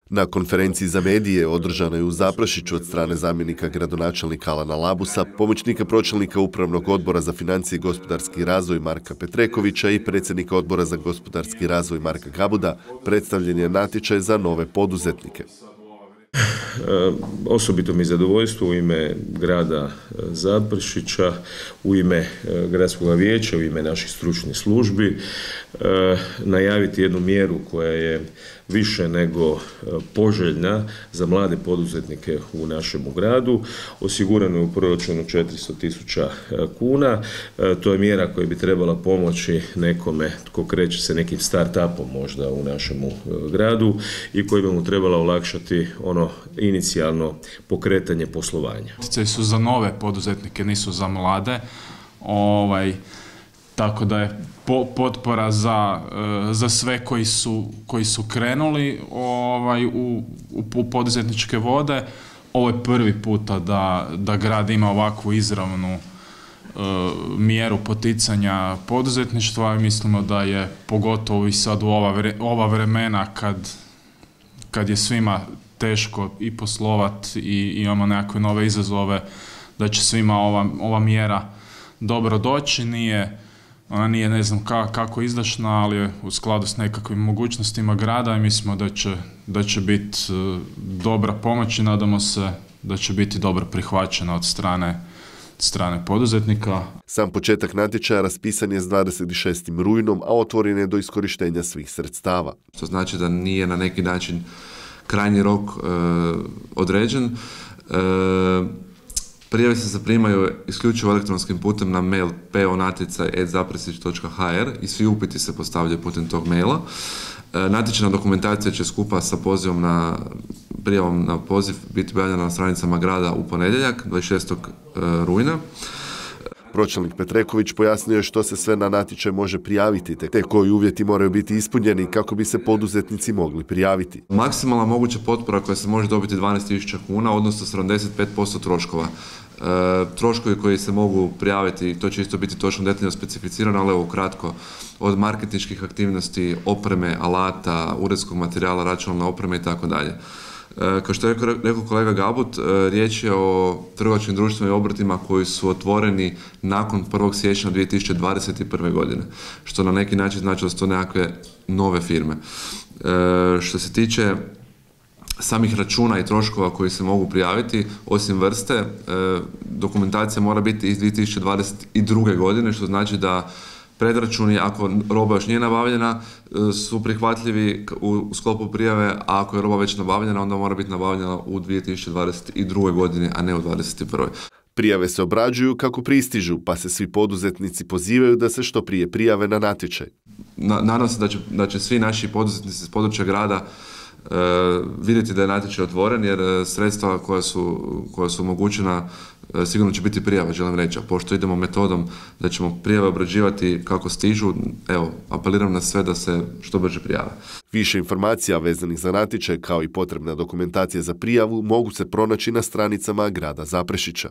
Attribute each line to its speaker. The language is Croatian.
Speaker 1: Na konferenciji za medije održanoj u Zaprešiću od strane zamjenika gradonačelnika Alana Labusa, pomoćnika pročelnika Upravnog odbora za financije i gospodarski razvoj Marka Petrekovića i predsjednika odbora za gospodarski razvoj Marka Gabuda, predstavljen je natječaj za nove poduzetnike.
Speaker 2: Osobito mi je zadovoljstvo u ime grada Zaprešića, u ime gradskog vijeća, u ime naših stručnih službi najaviti jednu mjeru koja je više nego poželjna za mlade poduzetnike u našemu gradu. Osigurano je u proračunu 400.000 kuna. To je mjera koja bi trebala pomoći nekome tko kreće se nekim start-upom možda u našemu gradu i koja bi mu trebala olakšati ono inicijalno pokretanje poslovanja.
Speaker 3: Poticaji su za nove poduzetnike, nisu za mlade. Tako da je potpora za sve koji su krenuli u poduzetničke vode. Ovo je prvi puta da grad ima ovakvu izravnu mjeru poticanja poduzetništva i mislimo da je pogotovo i sad u ova vremena kad je svima teško i poslovati i imamo nekakve nove izazove, da će svima ova mjera dobro doći. Ona nije ne znam kako izdašna, ali je u skladu s nekakvim mogućnostima grada i mislimo da će biti dobra pomoć i nadamo se da će biti dobro prihvaćena od strane poduzetnika.
Speaker 1: Sam početak natječaja raspisan je s 26. rujnom, a otvoren je do iskorištenja svih sredstava.
Speaker 4: To znači da nije na neki način krajnji rok određen. Prijave se zaprimaju isključivo elektronskim putem na mail po.natjecaj@zaprešić.hr i svi upiti se postavljaju putem tog maila. Natječajna dokumentacija će skupa sa prijavom na poziv biti objavljena na stranicama grada u ponedjeljak, 26. rujna.
Speaker 1: Pročelnik Petreković pojasnio je što se sve na natječaj može prijaviti, te koji uvjeti moraju biti ispunjeni kako bi se poduzetnici mogli prijaviti.
Speaker 4: Maksimalna moguća potpora koja se može dobiti 12.000 kuna, odnosno 75% troškova. Troškovi koji se mogu prijaviti, to će isto biti točno detaljno specificirano, ali evo ukratko, od marketinških aktivnosti, opreme, alata, uredskog materijala, računalne opreme i tako dalje. Kao što je rekao kolega Gabut, riječ je o trgovačkim društvima i obrtima koji su otvoreni nakon 1. siječnja 2021. godine, što na neki način znači da su to nekakve nove firme. Što se tiče samih računa i troškova koji se mogu prijaviti, osim vrste, dokumentacija mora biti iz 2022. godine, što znači da predračuni, ako roba još nije nabavljena, su prihvatljivi u sklopu prijave, a ako je roba već nabavljena, onda mora biti nabavljena u 2022. godini, a ne u 2021.
Speaker 1: Prijave se obrađuju kako pristižu, pa se svi poduzetnici pozivaju da se što prije prijave na natječaj.
Speaker 4: Nadam se da će svi naši poduzetnici iz područja grada vidjeti da je natječaj otvoren, jer sredstva koja su omogućena sigurno će biti prijava, želim reći, a pošto idemo metodom da ćemo prijave obrađivati kako stižu, evo, apeliram na sve da se što brže prijave.
Speaker 1: Više informacija vezanih za natječaj kao i potrebna dokumentacija za prijavu mogu se pronaći na stranicama grada Zaprešića.